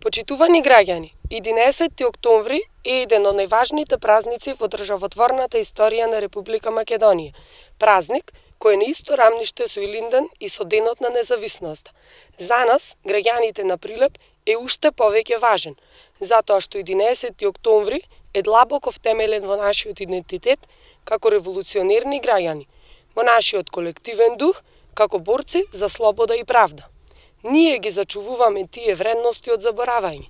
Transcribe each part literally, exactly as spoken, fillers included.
Почитувани граѓани, единаесетти октомври е еден од најважните празници во државотворната историја на Република Македонија. Празник кој е на исто рамниште со Илинден и со Денот на независноста. За нас, граѓаните на Прилеп, е уште повеќе важен, затоа што единаесетти октомври е длабоко втемелен во нашиот идентитет како револуционерни граѓани, во нашиот колективен дух како борци за слобода и правда. Ние ги зачувуваме тие вредности од заборавање.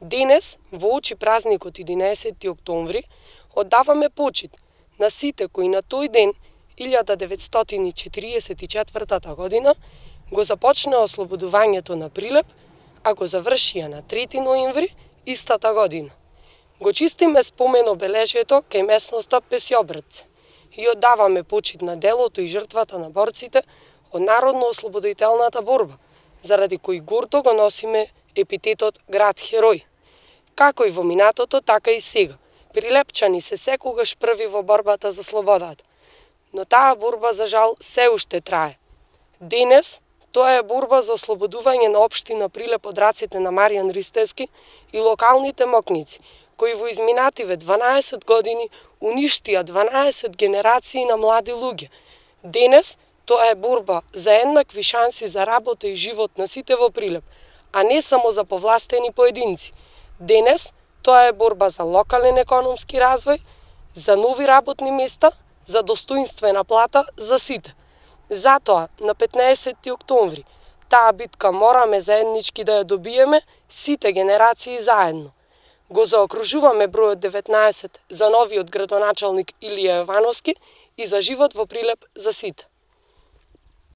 Денес, во очи празникот единаесетти октомври, оддаваме почит на сите кои на тој ден, илјада деветстотини четириесет и четвртата година, го започнаа ослободувањето на Прилеп, а го завршија на трети ноември истата година. Го чистиме спомен обележјето кај местноста Песјобрдце и оддаваме почит на делото и жртвата на борците од народно-ослободителната борба, заради кој гордо го носиме епитетот град херој. Како и во минатото, така и сега. Прилепчани се секогаш први во борбата за слободата. Но таа борба, за жал, се уште трае. Денес, тоа е борба за ослободување на општина Прилеп од раците на Маријан Ристевски и локалните мокници, кои во изминативе дванаесет години уништија дванаесет генерации на млади луѓе. Денес, тоа е борба за еднакви шанси за работа и живот на сите во Прилеп, а не само за повластени поединци. Денес, тоа е борба за локален економски развој, за нови работни места, за достоинствена плата за сите. Затоа, на петнаесетти октомври, таа битка мораме заеднички да ја добиеме сите генерации заедно. Го заокружуваме бројот деветнаесет за новиот градоначалник Илија Јовановски и за живот во Прилеп за сите.